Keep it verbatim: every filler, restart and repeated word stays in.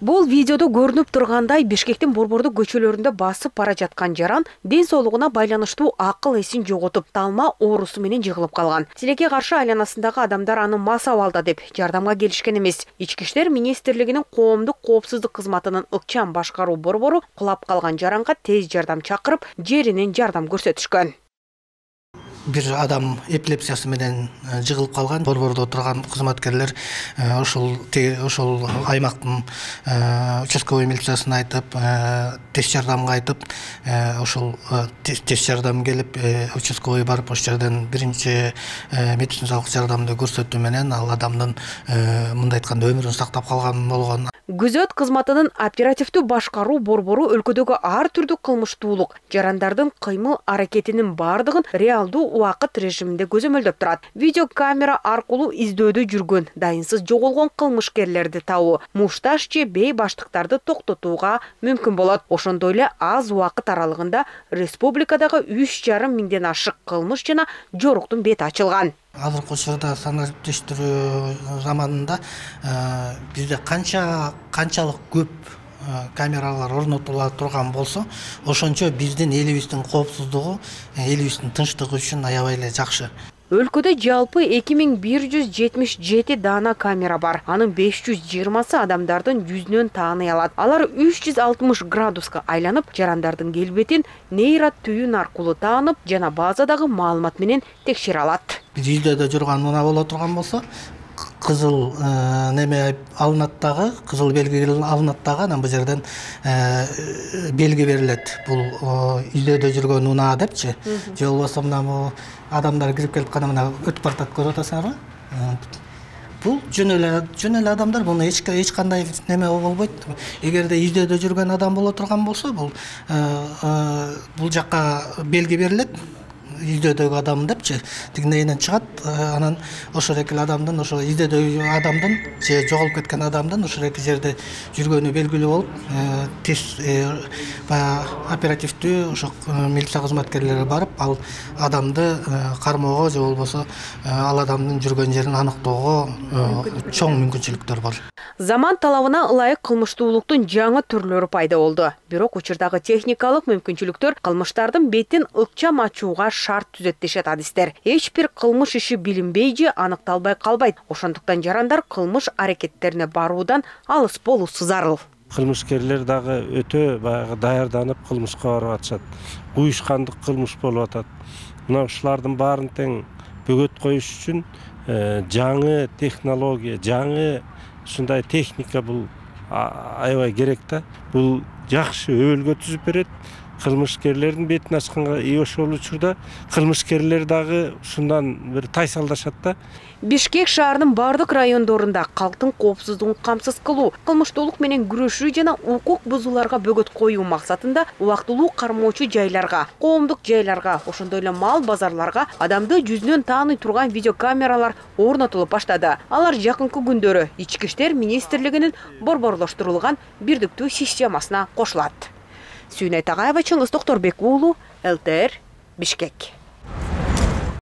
Бул видеодо көрүнүп тургандай Бишкектин борбордук көчөлөрүндө басып бара жаткан жаран ден соолугуна байланыштуу акыл эсин жоготуп, талма оорусу менен жыгылып калган. Тилекке каршы айланасындагы адамдар аны мас абалда деп жардамга келишкен эмес. Ички иштер министрлигинин коомдук коопсуздук кызматынын ыкчам башкаруу борбору кулап калган жаранга тез жардам чакырып, жеринен жардам көрсөтүшкөн. Бир адам эпилепсиясы менен жыгылып калган. Борбордо турган кызматкерлер ошол ошол аймактын участковый милициясына айтып, тез жардамга айтып, ошол тез жардам келип, участковый барып, ошол жерден биринчи медициналык жардамды көрсөтүү менен ал адамдын мындай айтканда өмүрүн сактап калган болгон. Күзөт кызматынын оперативдүү башкаруу борбору өлкөдөгү ар түрдүү кылмыштуулук, жарандардын кыймыл аракетинин бардыгын реалдуу убакыт режиминде көзөмөлдөп турат. Видео камера аркылуу издөөдө жүргөн, дайынсыз жоголгон кылмышкерлерди табуу, мушташ же бей баштыктарды токтотууга мүмкүн болот. Ошондой эле аз убакыт аралыгында республикадагы үч жарым миңден ашык кылмыш жана жоруктун бети ачылган. Азыркы учурда санариптештирүү заманында бизде канча канчалык көп камералар орнотула турган болсо, ошончо биздин элибиздин коопсуздугу, элибиздин тынчтыгы үчүн аябай эле жакшы. Өлкөдө жалпы эки миң бир жүз жетимиш жети даана камера бар. Анын беш жүз жыйырмасы адамдардын жүзүнөн тааный алат. Алар үч жүз алтымыш градуска айланып, жарандардын келбетин нейро түйүн аркылуу таанып жана базадагы маалымат менен текшере алат. Биз издөөдө жүргөн мына боло турган болсо, кызыл неме алынат дагы, кызыл белги алынат дагы, анан бул жерден белги берилет. Бул издөөдө жүргөн унаа депчи. Же болбосо мына бул адамдар кирип келип кана мына өтүп баратат, көрүп атасыңарбы? Бул жөн эле жөн эле адамдар, буну эч эч кандай неме болбойт. Эгерде издөөдө жүргөн адам боло турган болсо, бул бул жакка белги берилет. Издөөдөгү адам депчи, тигинен чыгат, анан ошол эки адамдын, ошо издөөдөгү адамдын же жоголуп кеткен адамдын ошол эки жерде жүргөнү белгилүү болуп, тез баягы оперативдүү ошо милиция кызматкерлери барып, ал адамды кармоого же болбосо ал адамдын жүргөн жерин аныктоого чоң мүмкүнчүлүктөр бар. Заман талабына ылайык кылмыштуулуктун жаңы түрлөрү пайда болду. Бирок учурдагы техникалык мүмкүнчүлүктөр кылмыштардын бетин ыкчам ачууга шарт түзөт дешет адистер. Эч бир кылмыш иши билинбей же аныкталбай калбайт. Ошондуктан жарандар кылмыш аракеттерине баруудан алыс болуусу зарыл. Кылмышкерлер дагы өтө баягы даярданып кылмышка барып атышат. Уюшкандык кылмыш болуп атат. Мына ушулардын баарын тең бөгөт коюш үчүн жаңы технология, жаңы ушундай техника бул аябай керек да. Бул жакшы өбөлгө түзүп берет. Кылмышкерлердин бетин ачканга и ошол учурда кылмышкерлер дагы ушундан бир тайсалдашат да. Бишкек шаарынын бардык райондорунда калктын коопсуздугун камсыз кылуу, кылмыштуулук менен күрөшүү жана укук бузууларга бөгөт коюу максатында убактылуу кармоочу жайларга, коомдук жайларга, ошондой эле мал базарларга адамды жүзүнөн тааный турган видеокамералар орнотулуп баштады. Алар жакынкы күндөрү Ички иштер министрлигинин борборлоштурулган бирдиктүү системасына кошулат. Сүйнөй Тагаева, Чыңгыз Токторбек уулу, эл тэ эр, Бишкек.